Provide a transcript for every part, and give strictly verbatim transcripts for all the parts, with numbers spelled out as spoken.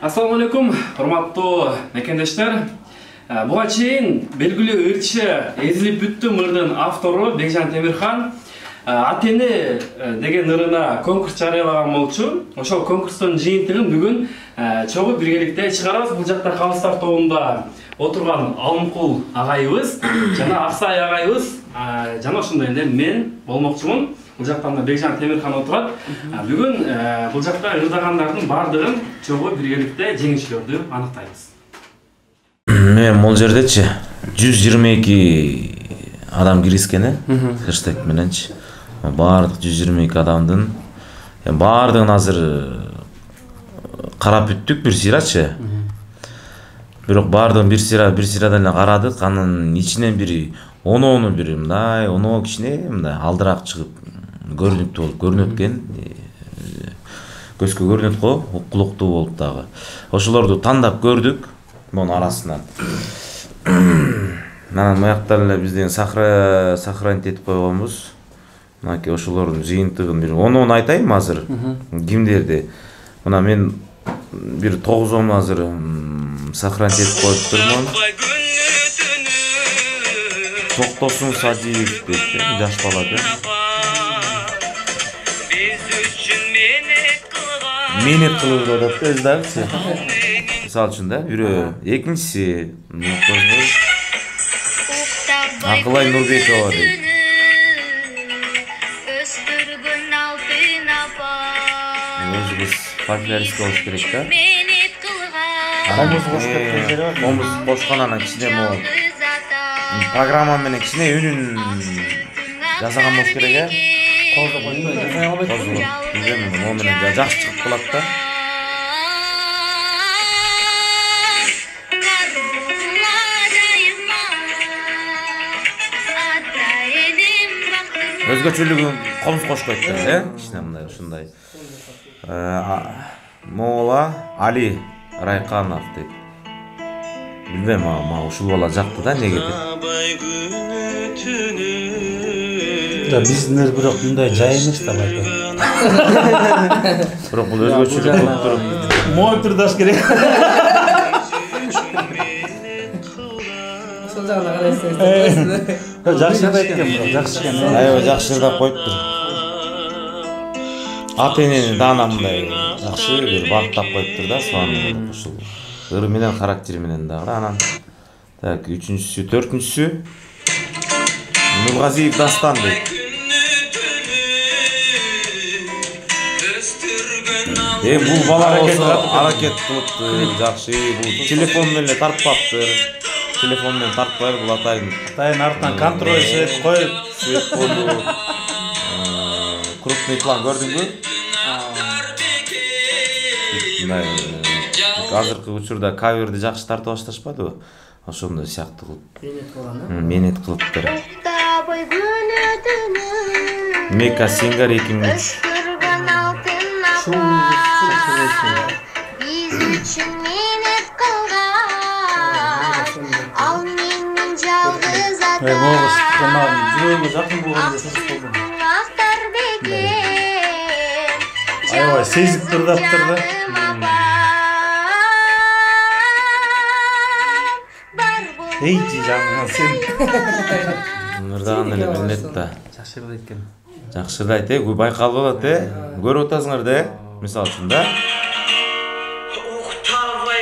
Assalamu alaikum, урматтуу мекендештер. Буга чейин белгилүү ырчы Эзилип бүттүм ырдын автору Бекжан Темирхан Атени деген ырына конкурс жарыялаган болчу. Ошол конкурстун жыйынтыгын бүгүн чогуу биргеликте чыгарабыз. Бул жакта Калыстар тобунда отурган Алымкул агайыбыз жана Аксай агайыбыз жана ошондой эле мен болмокчумун. Бул жактан да Бекжан Темирхан отурат. Бүгүн бул жакта ырдагандардын бардыгын чогуу биргеликте жеңүүчүлөрдү аныктайбыз. Мен бул жердечи жүз жыйырма эки адам киришкен э, хэштег мененчи. Бардык жүз жыйырма эки адамдын бардыгын азыр карап бүттүк бир сыйрачы. Бирок бардыгын бир сыйра бир сыйрадан эле карадык. Анын ичинен бири оноону бири мындай, оноо кичине мындай алдыраак чыгып көрүнүктүү болуп көрүнөт экен. Көзгө көрүнөт го, укулуктуу болуп дагы. Ошолорду тандап көрдүк. Монун арасынан. Анан маяктан эле бизден сахра сохранить этип койгонбуз. Мынакей ошолордун жыйынтыгын бир оноону айтайынбы азыр? Кимдерди? Мына мен бир тогузону азыр сохранить этип коюп турмун. Токтосун Садиев дейт, жаш бала экен. Менет кылып атат өз дагычы. Мисалы үчүн да, бирөө, экинчиси Акылай Нурбекова дейт. Өзүбүз фольклорист болуш керек да. Комуз кошуп кеткен жери бар. Комуз кошкон анан кичине могу программа менен кичине үнүн жасаган болуш керек э. Козу койбой жасай албайт. Козу. Билбейм, могу менен жакшы чыгып калат да. Өзгөчөлүгүн комуз кошкойт да, э? Кичине мындай ушундай. Мола Али Райканов дейт. Билбейм, ама ушул бала жакты да, неге деп. Да биздин бирок мындай жай эмес да байке. Бирок бул өзгөчөлүк болуп туруп. Мой турдаш керек. Ошол жагына карайсыңыз. Жакшы да экен, бирок жакшы экен. Аябай жакшы ырдап коюптур. Атенени даана мындай жакшы бир багыттап коюптур да, суан ушул ыры менен характери менен дагы. Анан так үчүнчүсү, төртүнчүсү Нургазиев Дастан дейт. Эми бул бала болсо аракет кылыптыр, жакшы, бул телефон менен эле тартпаптыр. Телефон менен тартпай бул атайын. Атайын артынан контроль свет коюп, свет коюп. Крупный план көрдүңбү? Мындай азыркы учурда каверди жакшы тартып башташпадыбы? Ошондой сыяктуу кылып. Менет кылыптыр. Мека Сингар эки миң үч. Эй, могуш, канал жүрөгүмө жакын болгондо сасып болдум. Аябай сезип турдаптыр да. Эйчи жаным, сен. Ырдаган эле билинет да. Жакшы ырдайт экен. Жакшы ырдайт э, байкалып атат э. Көрүп атасыңар да, мисалы үчүн да.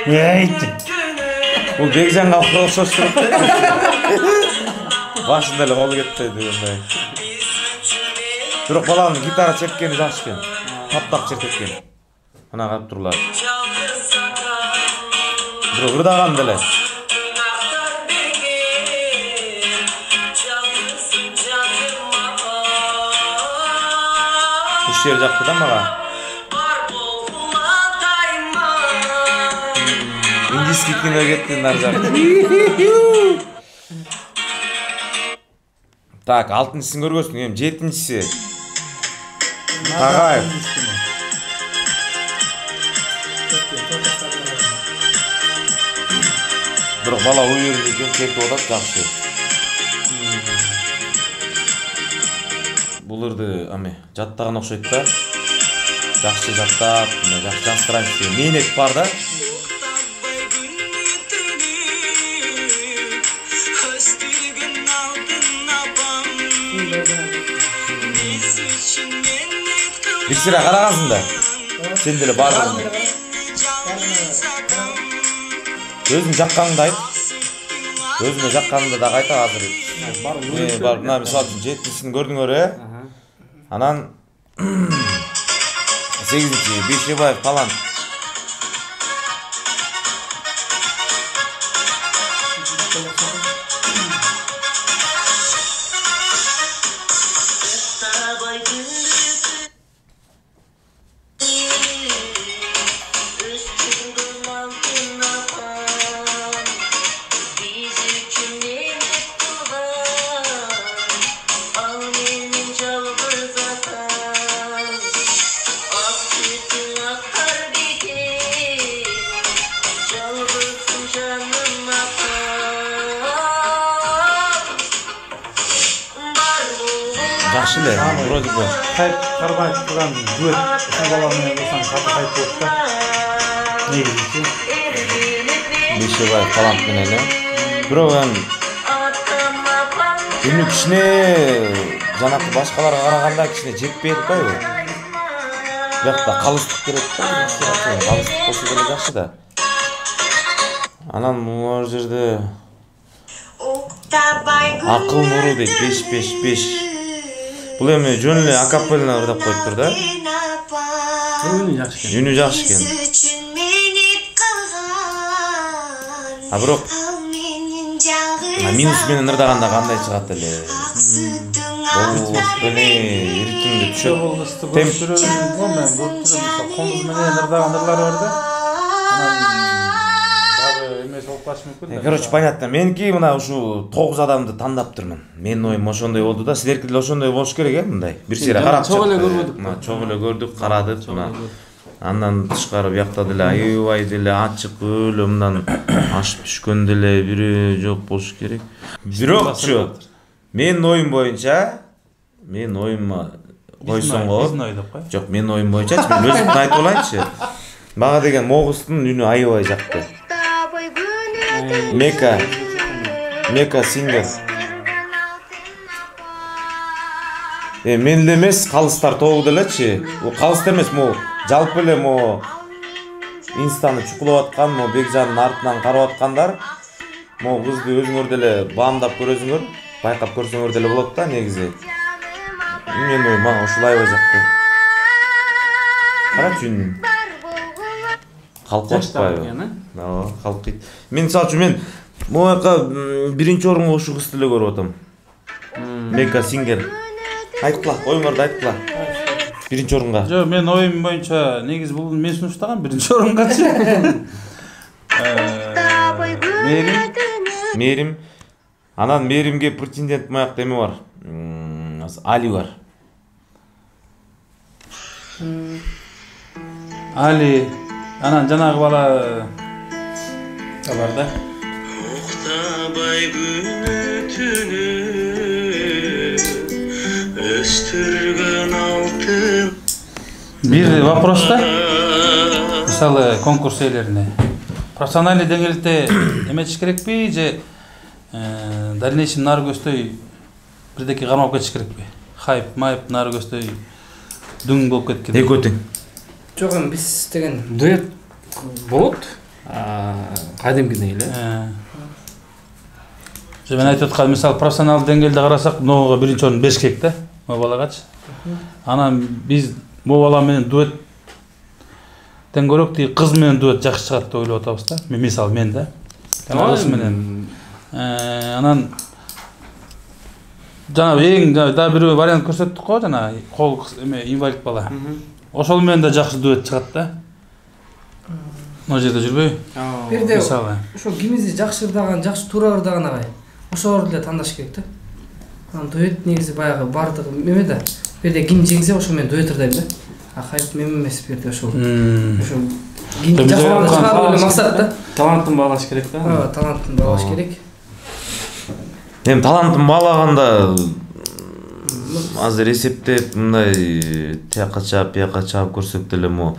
Эйчи. Бул Бекжанга окшош туруп да. Башында эле колу кетпейди мындай. Бирок баланын гитара чеккени жакшы экен. Таптак чертет экен. Мына карап турлар. Бирок ырдаган деле. Уш жер жакты да мага. Индийский кино кетти нар жак. Так, алтынчысын көргөзсүң, эми жетинчиси. Тагаев. Бирок бала уюрду экен, чертип атат жакшы. Бул ырды ами жаттаган окшойт да. Жакшы жаттап, жакшы жастырайын деген менет бар да. бир сыйра карагансың да. Сен деле бардың. Өзүң жакканыңды айт. Өзүңө жакканыңды да айта азыр. Э, бар, мына мисалы үчүн жетинчисин көрдүңөр э? Анан сегизинчи Бейшебаев талант. Жакшы эле, вроде бы. Кайып кармай турган дуэт ушул бала менен болсоң каты кайып болот да. Негизичи. Бейшебаев талант менен эле. Бирок эми күнү кичине жанакы башкаларга караганда кичине жетпей атпайбы? Бирок да калыстык керек да. Калыстык болсо деле жакшы да. Анан могу жерде акыл нуру дейт беш беш беш. Бул эми жөн эле акапелла ырдап коюптур да. Үнү жакшы экен. Үнү жакшы экен. А бирок минус менен ырдаганда кандай чыгат эле? Болбос беле ритмге түшөт. Темп жүрөм, мен көрүп жүрөм. Коңуз менен ырдаган ырлары бар да. Короче, понятно. Меники мына ушу тогуз адамды тандаптырмын. Менин оюм ошондой болду да. Силерки деле ошондой болуш керек э, мындай. Бир сыйра карап чогуу эле көрбөдүк. Мына чогуу эле көрдүк, карадык мына. Андан тышкары биякта деле аябай деле ачык өлө мындан ашып түшкөн деле бири жок болуш керек. Бирокчу менин оюм боюнча, менин оюмма койсоң болот. Жок, менин оюм боюнча мен өзүмдү айтып алайынчы. Мага деген Могустун үнү аябай жакты. Мека, Мека сингер. Э, мен эле эмес, калыстар тобу делечи. Бул калыс эмес, могу жалпы эле могу инстаны чукулап аткан, могу Бекжандын артынан карап аткандар, могу кызды өзүңөр деле баамдап көрөсүңөр, байкап көрсөңөр деле болот да негизи. Мен ой, мага ушул аябай жакты. Карачы үн. Калкып атпайбы? Ооба, калкыйт. Мен мисалы үчүн мен могу жака биринчи орунга ушу кызды эле көрүп атам. Мека сингер. Айткыла, оюңарды айткыла. Биринчи орунга. Жок, мен оюм боюнча негизи бул мен сунуштаган биринчи орунгачы. Мээрим. Мээрим. Анан Мээримге претендент маяк эме бар. Али бар. Али. Анан жанагы бала бар да. Уктабай күнү түнү өстүргөн алтын. Бир вопрос да. Мисалы конкурс ээлерине профессиональный деңгээлде эметиш керекпи же дальнейшем нары көздөй бирдеке кармап кетиш керекпи? Хайп, майп нары көздөй дүң болуп кеткен. Экөө тең. Жок, эми биз деген дуэт болот. Кадимкидей эле. Же мен айтып аткан мисалы профессионалдык деңгээлде карасак, могуга биринчи орун бериш керек да, могу балагачы. Анан биз могу бала менен дуэт тең көрөк тиги кыз менен дуэт жакшы чыгат деп ойлоп атабыз да. Мен мисалы мен да. Кыз менен. Анан жана эң да бир вариант көрсөттүк го, жана кол эме инвалид бала. Ошол менен да жакшы дуэт чыгат да. Могу жерде жүрбөйбү? Бирде ошо кимизи жакшы ырдаган, жакшы туура ырдаган агай. Ошолорду эле тандаш керек да. Анан дуэт негизи баягы бардыгы эме да. Бирде ким жеңсе ошо мен дуэт ырдайм да. А хайп мен эмес бирде ошол. Ошо ким жакшы чыгаруу эле максат да. Талантын баалаш керек да. Ооба, талантын баалаш керек. Эми талантын баалаганда азыр эсептеп мындай тияка чаап, бияка чаап көрсөк деле мо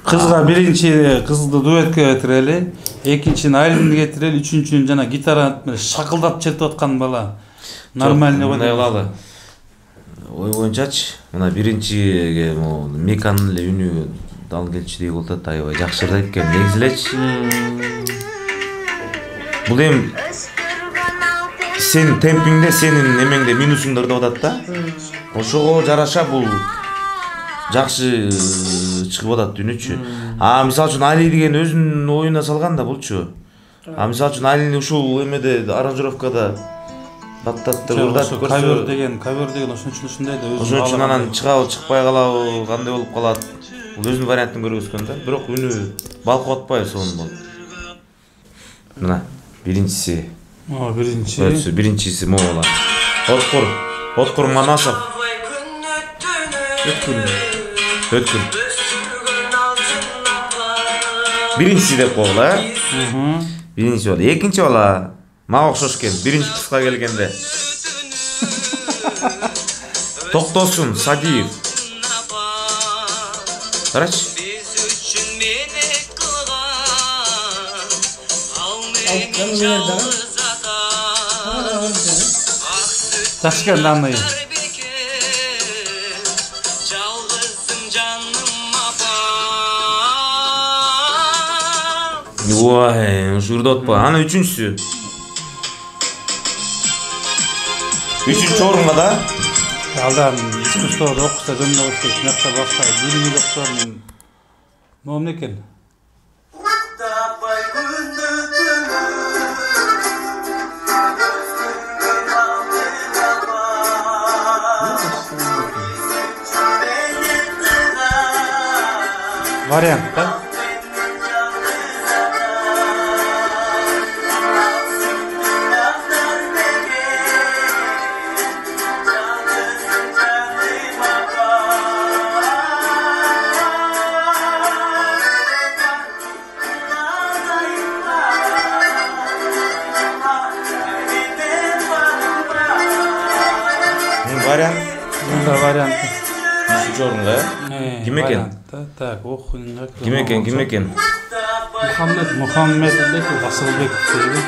кызга биринчи кызды дуэтке кетирели, экинчини айлымды кетирели, үчүнчүнү жана гитара менен шакылдап чертип аткан бала. Нормальный мындай кылалы. ой боюнчачы мына биринчиге могу Меканын эле үнү дал келчү деп болуп атат, аябай жакшы ырдайт экен негизи элечи. Бул эми сенин темпиңде, сенин эмеңде минусуңда ырдап атат да. Ошого жараша бул жакшы чыгып атат үнүчү. А мисалы үчүн Али деген өзүнүн оюна салган да булчу. А мисалы үчүн Алини ушул эмеде аранжировкада баттаттыр ырдатып көрсө, кавер деген, кавер деген ошон үчүн ушундай да өзү. Ошон үчүн анан чыгабы, чыкпай калабы, кандай болуп калат. Бул өзүнүн вариантын көргөзгөн да. Бирок үнү балкып атпайбы сонун болуп. Мына биринчиси. О, биринчи. Өтсү, биринчиси могула. Откур, Откур Манасов. Өткүн. Өткүн. Биринчиси деп койгула, э? Мм. Биринчи болду. Экинчи бала мага окшош экен. Биринчи кыска келгенде. Токтосун Садиев. Карачы. Жакшы экен данный. Ой, ушу ырдап атпайбы? Ана үчүнчүсү. Үчүнчү орунга да. Алдан искусствода окуса жөнүндө окуса, мынакта башка билими жоксо мен момун экен. Вариант да. Вариант. Мында вариант. Үчүнчү орунга, э? Ким экен? Так, окуйнга. Ким экен? Ким экен? Мухаммед, Мухаммед деп Асылбеков сөйлөдү.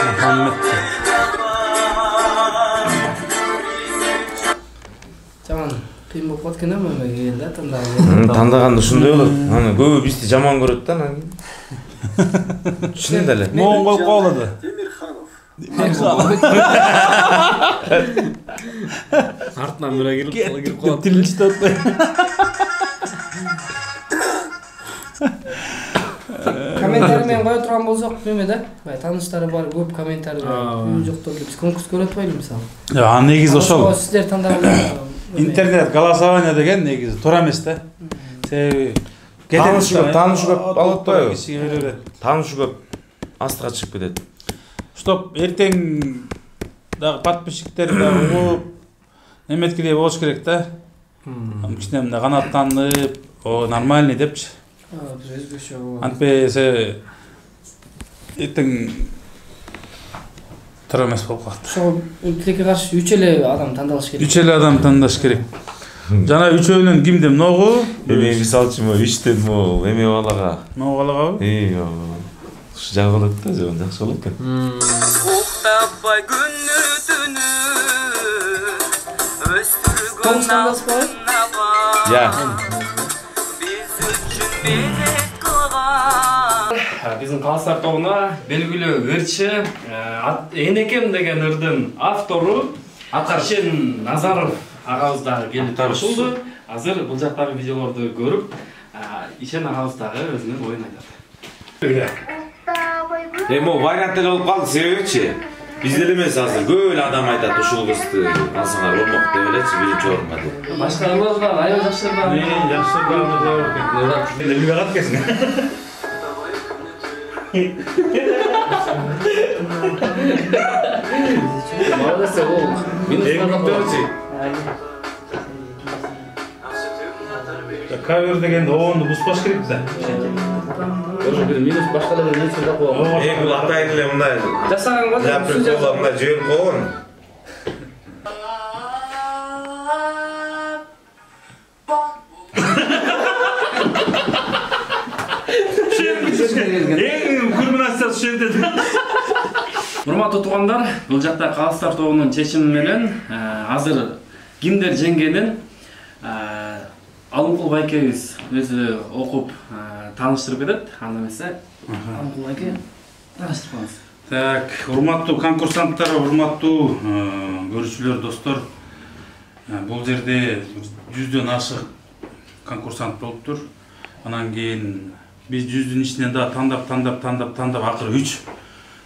Мухаммед. Жаман кыйын болуп калат экен да мага келди да тандаган. Тандаганда ушундай болот. Аны көбү бизди жаман көрөт да анан кийин. Чын эле. Моң коюп коелоду. Артынан бирөө кирип кирип калат. Тилинчи татпай. Комментарий менен кое турган болсок, неме да? Бай тааныштары бар, көп комментарий бар. Жоктор биз конкурс көрөт атпайлы мисалы. А негизи ошол. Сиздер тандаган Интернет голосование деген негизи туура эмес да. Себеби Таанышы көп, таанышы көп алып атпайбы? Кишиге бере берет. Таанышы көп астыга чыгып кетет. Чтоб эртең дагы подписчиктер дагы угуп эметкидей болуш керек да. Кичине мындай канааттанып, о нормальный депчи. өзгөчө. Антпесе эртең туура эмес болуп калат. Ошо тилекке каршы үч эле адам тандалыш керек. Үч эле адам тандаш керек. Жана үчөөнүн кимде многу? Эми мисалы үчүн могу иштен могу эме балага. Могу балагабы? Эй, ушу жак болот да, жөн жакшы болот экен. Уктабай күнү түнү өстүргөн Таңдаспай? Я. биз үчүн белек кылган. Биздин Калыстар тобуна белгилүү ырчы Энекем деген ырдын автору Ишен Назаров агабыз дагы келип кошулду. Азыр бул жактагы видеолорду көрүп, Ишен агабыз дагы өзүнүн оюн айтат. Эми могу вариант эле болуп калды, себебичи бизде эле эмес азыр көп эле адам айтат ушул кызды алсаңар болмок деп элечи биринчи орунга деп. Башкалар да аябай жакшы ырдаган. Мен жакшы ырдап экен. Элге кат кесин. Молодец, ол. Минус Кавер дегенде оонду буспаш керек да. Ошо бир минус башкалардан нерсе да койгон. Эми бул атайын эле мындай Жасаган го. прикол мындай жиберип койгон. Эң кульминациясы ушул жерде. Урматтуу туугандар, бул жакта калыстар тобунун чечими менен азыр кимдер жеңгенин Алымкул байкебиз өзү окуп тааныштырып кетет. Анда эмесе Алымкул байке тааныштырып коебуз. Так, урматтуу конкурсанттар, урматтуу көрүүчүлөр, достор. Бул жерде жүздөн ашык конкурсант болуптур. Анан кийин биз жүздүн ичинен да тандап, тандап, тандап, тандап акыры үч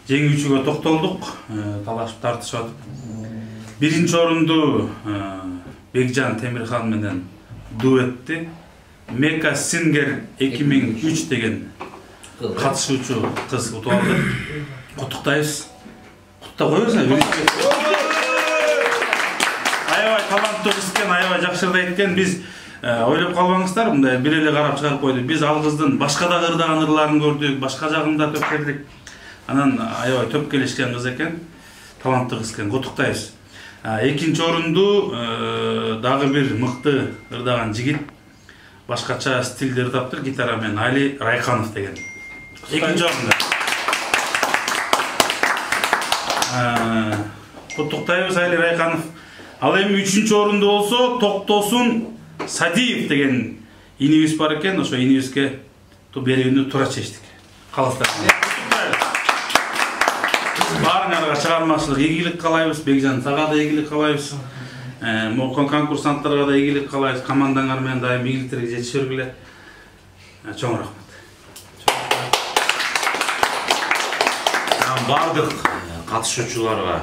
жеңүүчүгө токтолдук. Талашып тартышып атып. Биринчи орунду Бекжан Темирхан менен дуэтти Meka Singer эки миң үч деген катышуучу кыз утуп алды. Куттуктайбыз. Кутта коебузбу? Аябай таланттуу кыз экен, аябай жакшырдайт экен. Биз ойлоп калбаңыздар, мындай бир эле карап чыгарып койду. Биз ал кыздын башка да ырдаган ырларын көрдүк, башка жагында төпкердик. Анан аябай төп келишкен кыз экен, таланттуу кыз экен. Куттуктайбыз. Экинчи орунду дагы бир мыкты ырдаган жигит, башкача стилде ырдаптыр, гитара менен Али Райканов деген. Экинчи орунда. Куттуктайбыз Али Райканов. Ал эми үчүнчү орунда болсо Токтосун Садиев деген инибиз бар экен. Ошо инибизге берүүнү туура чечтик. Калыстар. Баарыңарга чыгармачылык ийгилик каалайбыз. Бекжан сага да ийгилик каалайбыз. Мокон конкурсанттарга да ийгилик каалайбыз. Командаңар менен дайым ийгиликтерге жетише бергиле. Чоң рахмат. Бардык катышуучуларга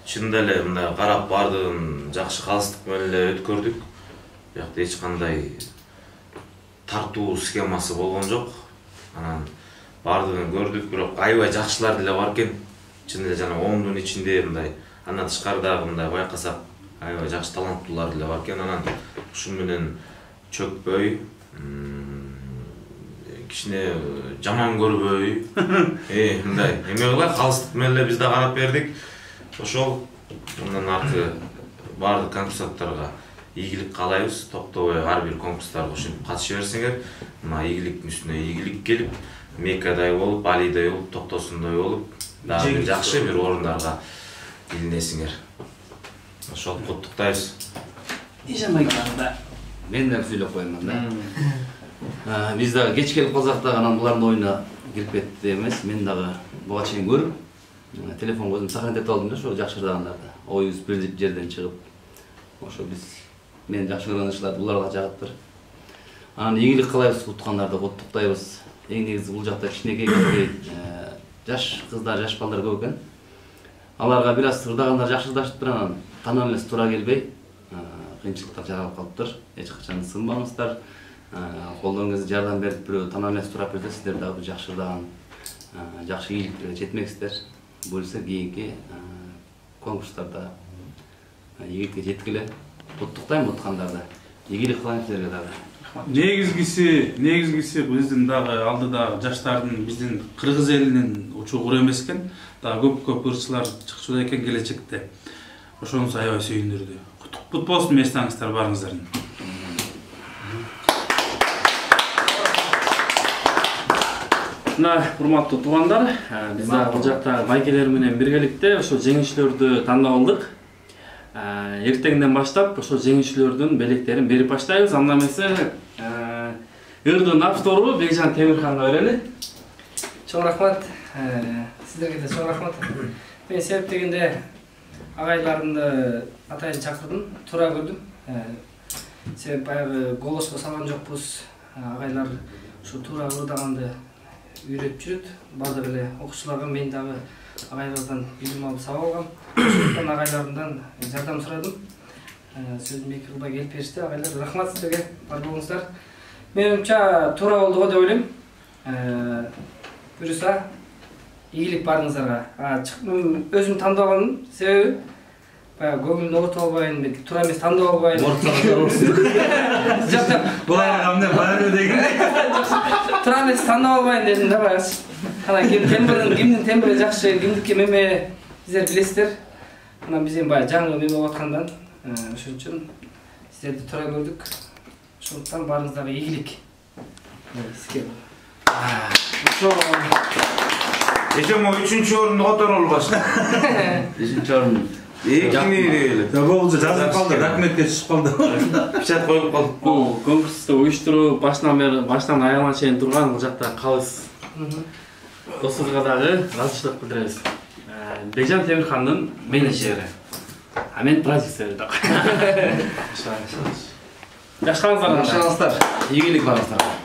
чында эле мындай карап бардыгын жакшы калыстык менен эле өткөрдүк. Бияқта эч кандай тартуу схемасы болгон жок. Анан бардыгын көрдүк, бирок аябай жакшылар деле бар экен. Чын эле жана ондун ичинде мындай андан тышкарыдагы мындай байкасак аябай жакшы таланттуулар деле бар экен. Анан ушун менен чөкпөй, кичине жаман көрбөй, э мындай эме кылай калыстык менен эле биз да карап бердик. Ошол мындан аркы бардык конкурсанттарга ийгилик каалайбыз. Токтобой ар бир конкурстарга ушинтип катыша берсеңер, мына ийгиликтин үстүнө ийгилик келип, Мекадай болуп, Алидай болуп, Токтосундай болуп, дагы бир жакшы бир орундарга илинесиңер. Ошол куттуктайбыз. Ишенбей калганда мен да сүйлөп коеюн да. Биз дагы кеч келип калсак дагы анан булардын оюна кирип кетти эмес. Мен дагы буга чейин көрүп, телефон көзүм сохранить алдым да, ошо жакшырдагандарды. Оюбуз бир жерден чыгып, ошо биз мен жакшы көргөн иштерди буларга жагыптыр. Анан ийгилик каалайбыз, уткандарды куттуктайбыз. Эң негизи бул жакта кичинекей жаш кыздар, жаш балдар көп экен. Аларга бир аз ырдагандар жакшырдашыптыр, анан танып элес туура келбей, кыйынчылыктар жаралып калыптыр. Эч качан сынбаңыздар. Колдоруңузга жардам берип, бирөө танып элес турап берсе, сиздер дагы жакшы ырдаган, жакшы ийгиликтерге жетмексиздер. Буюрса кийинки конкурстарда ийгиликке жеткиле. Куттуктайм уткандарды. Ийгилик кылайм силерге дагы. Негизгиси, негизгиси биздин дагы алдыда жаштардын биздин кыргыз элинин учугур эмес экен. Дагы көп-көп ырчылар чыкчуда экен келечекте. Ошонусу аябай сүйүндүрдү. Кут болсун местаңыздар барыңыздардын. Мына урматтуу туугандар, биз дагы бул жакта байкелер менен биргеликте ошо жеңүүчүлөрдү тандап алдык. Эртеңден баштап ошо жеңүүчүлөрдүн белектерин берип баштайбыз. Анда эмесе ырдын автору Бекжан Темирханга берели. Чоң рахмат. Сиздерге да чоң рахмат. Мен себеп дегенде агайларымды атайын чакырдым, туура көрдүм. Себеп баягы голоско салган жокпуз. Агайлар ушу туура ырдаганды үйрөтүп жүрөт. Бардык эле окуучуларга мен дагы агайлардан билим алып сабак алгам. Ошондон агайларымдан жардам сурадым. Сөзүм эки кылбай келип беришти. Агайлар рахмат сиздерге, бар болуңуздар. Менимче туура болду го деп ойлойм. Буюрса ийгилик барыңыздарга. Өзүм тандап алгам, себеби баягы көңүлүн оорутуп албайын, туура эмес тандап албайын. Жок, Булар кандай баары деген. Туура эмес тандап албайын дедим да баягы. Анан ким тембрин, кимдин тембри жакшы, кимдики меме сиздер билесиздер. Анан биз эми баягы жаңы меме болуп аткандан, ошон үчүн сиздерди туура көрдүк. Ошондуктан баарыңыздарга ийгилик. Сизге. Ошо эче могу үчүнчү орунду которолуп башка. Бешинчи орун. Экини эле. Болчу жазып калды, документке түшүп калды. Печат коюп калды. Бул конкурсту уюштуруу башынан бери баштан аягына чейин турган бул жакта калыс досубузга дагы ыраазычылык билдиребиз. Бекжан Темирхандын менеджери. А мен продюсери да. Жакшы калыңыздар. Игилик барыңыздар.